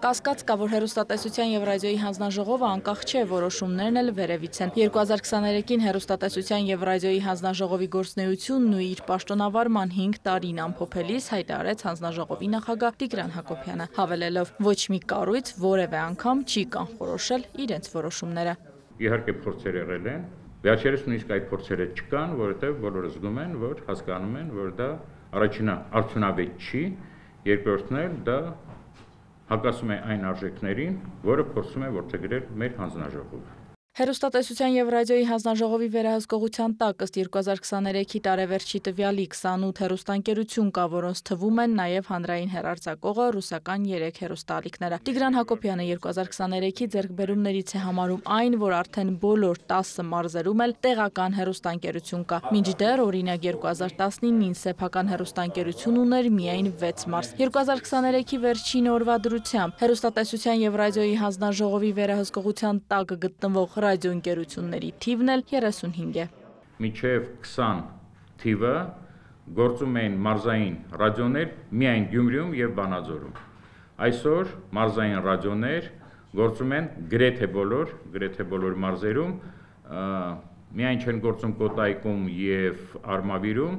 Կասկած կա, որ հեռուստատեսության եւ ռադիոյի հանձնաժողովը անկախ չէ, որոշումներն էլ վերևից են։ 2023-ին հեռուստատեսության եւ ռադիոյի հանձնաժողովի գործունեությունն ու իր պաշտոնավարման 5 տարին ամփոփելիս հայտարարեց հանձնաժողովի նախագահ Տիգրան Հակոբյանը, հավելելով. ոչ մի կառույց որևէ անգամ չի կանխորոշել իրենց որոշումները։ Իհարկե փորձեր եղել են, վերջերս նույնիսկ այդ փորձերը չկան, որովհետեւ բոլորը զգում են, որ հասկանում են, որ դա առաջինը արդյունավետ չի, երկրորդն էլ դա հակասում է այն արժեքներին, որը փորձում է որդեգրել մեր հանձնաժողովը։ Հեռուստատեսության եւ ռադիոյի հանձնաժողովի վերահսկողության տակ ըստ 2023-ի տարեվերջի տվյալի 28 հեռուստաընկերություն կա, որոնց թվում են նաեւ հանրային հեռարձակողը ռուսական 3 հեռուստաալիքները։ Տիգրան Հակոբյանը 2023-ի ձեռքբերումներից է համարում այն, որ արդեն բոլոր 10 մարզերում էլ տեղական հեռուստաընկերություն կա։ Մինչդեռ օրինակ 2019-ին սեփական հեռուստաընկերություն ուներ միայն 6 մարզ։ 2023-ի վերջին օրվա դրությամբ հեռուստատեսության եւ ռադիոյի հանձնաժողովի վերահսկողության տակ գտնվող ռադիոընկերությունների թիվն էլ 35 է։ Մինչև 20 թիվը գործում են մարզային ռադիոներ միայն Գյումրիում եւ Վանաձորում։ Այսօր մարզային ռադիոներ գործում են գրեթե բոլոր մարզերում, միայն չեն գործում Կոտայքում եւ Արմավիրում,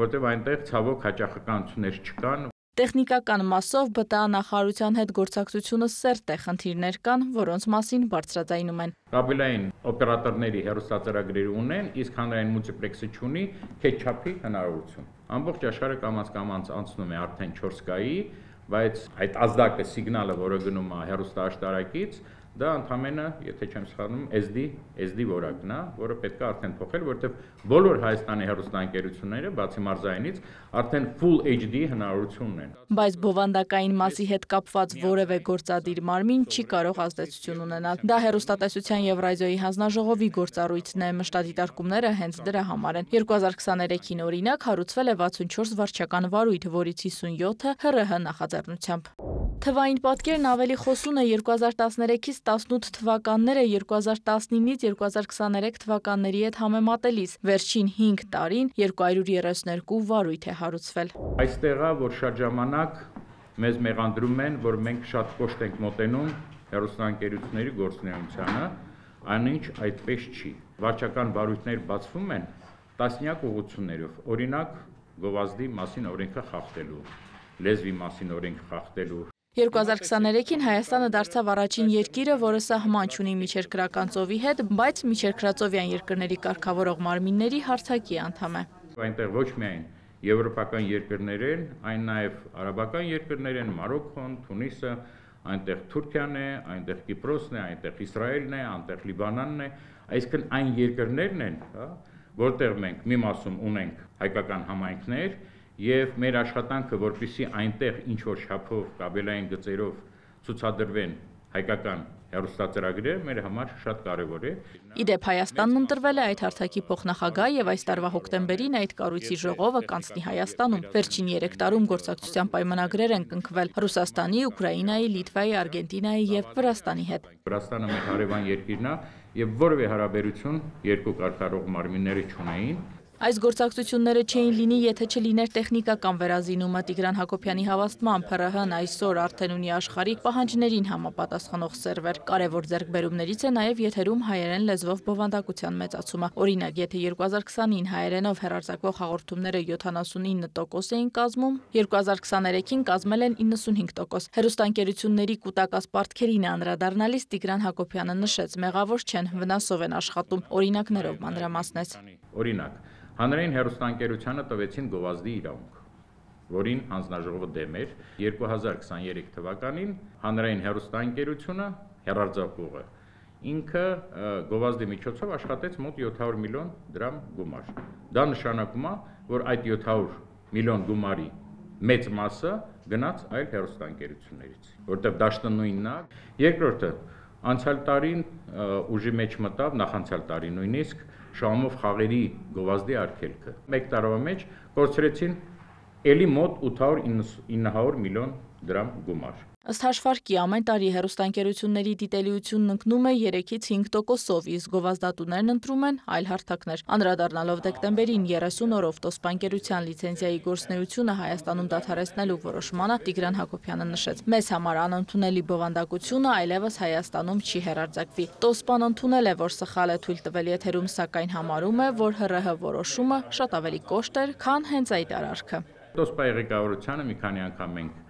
որտեղ այնտեղ ցավոք հաճախականություններ չկան։ Տեխնիկական մասով ԲՏԱ նախարարության հետ գործակցությունը սերտ է, խնդիրներ կան, որոնց մասին բարձրաձայնում են։ Կաբելային օպերատորների հեռուստածրագրեր ունեն, իսկ հանրային մուլտիպլեքսը չունի քեթչափի հնարավորություն։ Ամբողջ աշխարհը կամաց անցնում է արդեն 4K-ի, բայց այդ ազդակը սիգնալը, որը գնում է հեռուստաաշտարակից, դա ընդամենը, եթե չեմ սխալվում, SD որակն է, որը պետք է արդեն փոխել, որովհետև բոլոր Հայաստանի հեռուստաընկերությունները, բացի մարզայինից, արդեն Full HD հնարավորություն ունեն։ Բայց բովանդակային մասի հետ կապված որևէ գործադիր մարմին չի կարող ազդեցություն ունենալ։ Դա հեռուստատեսության եւ ռադիոյի հանձնաժողովի գործառույթն է, մշտադիտարկումները հենց դրա համար են։ 2023-ին օրինակ հարուցվել է 64 վարչական վարույթ, որից 57-ը ՀՌՀ նախաձեռնությամբ։ Թվային պատկերն ավելի խոսուն է 2013-ից 18 թվականները 2019-ից 2023 թվականների հետ համեմատելիս։ Վերջին 5 տարին 232 վարույթ է հարուցվել։ Այստեղ է, որ շատ ժամանակ մեզ մեղադրում են, որ մենք շատ կոշտ ենք մոտենում հեռուստաընկերությունների գործունեությանը, այնինչ այդպես չի։ Վարչական վարույթներ բացվում են տասնյակ ուղղություններով, օրինակ գովազդի մասին օրենքը խախտելու, լեզվի մասին օրենք խախտելու։ 2023-ին Հայաստանը դարձավ առաջին երկիրը, որը սահման չունի միջերկրական ծովի հետ, բայց միջերկրածովյան երկրների կարգավորող մարմինների հարթակի անդամ է։ Այնտեղ ոչ միայն եվրոպական երկրներ են, այն նաև արաբական երկրներ են, Մարոկոն, Թունիսը, այնտեղ Թուրքիան է, այնտեղ Կիպրոսն է, այնտեղ Իսրայելն է, այնտեղ Լիբանանն է, այսինքն այն երկրներն են, որտեղ մենք մի մասում ունենք հայկական համայնքներ եւ մեր աշխատանքը, որպեսզի այնտեղ ինչ որ շափով կաբելային գծերով ցուցադրվեն հայկական հեռուստածրագրերը, մեր համար շատ կարեւոր է։ Իդեպ Հայաստանն ընտրվել է այդ հարթակի փոխնախագահ եւ այս տարվա հոկտեմբերին այդ կառույցի ժողովը կանցնի Հայաստանում։ Վերջին 3 տարում գործակցության պայմանագրեր են կնքվել Ռուսաստանի, Ուկրաինայի, Լիտվայի, Արգենտինայի եւ Վրաստանի հետ։ Վրաստանը մեր հարևան երկիրն է եւ որևէ հարաբերություն երկու կարգավորող մարմինները չունեին։ Այս գործակցությունները չէին լինի, եթե չլիներ տեխնիկական վերազինումը։ Տիգրան Հակոբյանի հավաստմամբ ՀՌՀ-ն այսօր արդեն ունի աշխարհի պահանջներին համապատասխանող սերվեր։ Կարևոր ձեռքբերումներից է նաև եթերում հայերեն լեզվով բովանդակության մեծացումը։ Օրինակ, եթե 2020-ին հայերենով հեռարձակվող հաղորդումները 79% էին կազմում, 2023-ին կազմել են 95%։ Հեռուստաընկերությունների կուտակած պարտքերին անդրադառնալիս Տիգրան Հակոբյանը նշեց, մեղավոր չեն, վնասով են աշխատում, օրինակներով մանրամասնեց։ Օրինակ, հանրային հեռուստաընկերությանը տվեցին գովազդի իրավունք, որին հանձնաժողովը դեմ էր։ 2023 թվականին հանրային հեռուստաընկերությունը հեռարձակողը ինքը գովազդի միջոցով աշխատեց մոտ 700 միլիոն դրամ գումար։ Դա նշանակում է, որ այդ 700 միլիոն գումարի մեծ մասը գնաց այլ հեռուստաընկերություններից, որտեղ դաշտը նույնն է։ Երկրորդը, անցյալ տարին ուժի մեջ մտավ, նախանցյալ տարի նույնիսկ Շահումով խաղերի գովազդի արգելքը։ Մեկ տարվա մեջ կորցրեցին էլի մոտ 800-900 միլիոն դրամ գումար։ Ըստ հաշվարկի ամեն տարի հեռուստաընկերությունների դիտելիությունն ընկնում է 3-ից 5%-ով, իսկ գովազդատուներն ընտրում են այլ հարթակներ։ Անդրադառնալով դեկտեմբերին 30 օրով տոսպանկերության լիցենզիայի գործունեությունը Հայաստանում դադարեցնելու որոշմանը, Տիգրան Հակոբյանը նշեց. «Մեզ համար անընդունելի բովանդակությունը այլևս Հայաստանում չի հեռարձակվի։ Տոսպան ընդունել է, որ սխալ է թույլ տվել եթերում, սակայն համարում է, որ ՀՌՀ որոշումը շատ ավելի կոշտ էր, քան հենց այդ արարքը»։ Տոսպայի ղեկավարությանը մի քանի անգամ մենք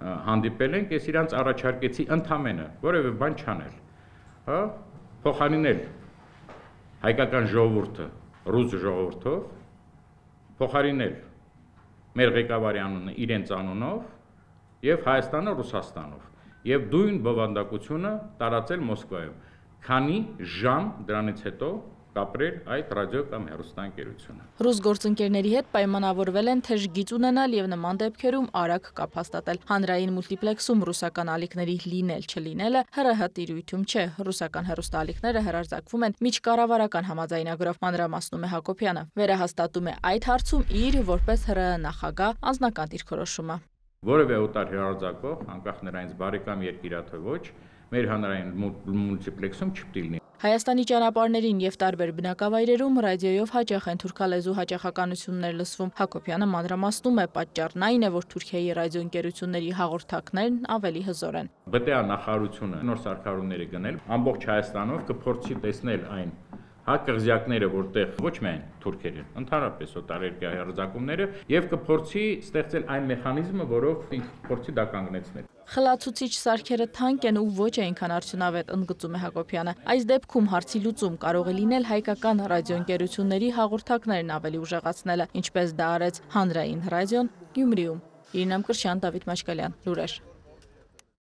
հանդիպել ենք, ես իրանց առաջարկեցի ընդամենը որևէ բան չանել, փոխարինել հայկական ժողովուրդը ռուս ժողովրդով, փոխարինել մեր ղեկավարի անունը իրենց անունով եւ Հայաստանը Ռուսաստանով եւ դույն բովանդակությունը տարածել Մոսկվայում, քանի ժամ դրանից հետո կապրել այդ ռադիո կամ հեռուստաընկերությունը։ Ռուս գործընկերների հետ պայմանավորվել են թեժ գիծ ունենալ եւ նման դեպքերում արագ կապ հաստատել։ Հանրային մուլտիպլեքսում ռուսական ալիքների լինել-չլինելը ՀՌՀ տիրույթում չէ։ Ռուսական հեռուստաալիքները հեռարձակվում են միջկառավարական համաձայնագրով, մանրամասնում է Հակոբյանը։ Վերահաստատում է այդ հարցում իր որպես ՀՌՀ նախագահ անձնական դիրքորոշումը։ Որևէ օտար հեռարձակող, անկախ նրանից բարեկամ երկիր է թե ոչ, մեր հանրային մուլտիպլեքսում չպետք է լինի։ Հայաստանի ճանապարհներին եւ տարբեր բնակավայրերում ռադիոյով հաճախ են թուրքալեզու հաճախականություններ լսվում։ Հակոբյանը մանրամասնում է, պատճառն այն է, որ Թուրքիայի ռադիոընկերությունների հաղորդակներն ավելի հզոր են։ ԲՏԱ նախարարությունը նոր սարքավորումներ է գնել, ամբողջ Հայաստանով կփորձի տեսնել այն կղզյակները, որտեղ ոչ միայն թուրքերը, ընդհանրապես օտարերկրյա հեռարձակումները եւ կփորձի ստեղծել այն մեխանիզմը, որով փորձի դա կանգնեցնել։ Խլացուցիչ սարքերը թանկ են ու ոչ այնքան արդյունավետ, ընդգծում է Հակոբյանը։ Այս դեպքում հարցի լուծում կարող է լինել հայկական ռադիոընկերությունների հաղորդակներն ավելի ուժեղացնելը, ինչպես դա արեց Հանրային ռադիոն Գյումրիում։ Իրինա Մկրտչյան, Դավիթ Մաշկալյան, Լուրեր։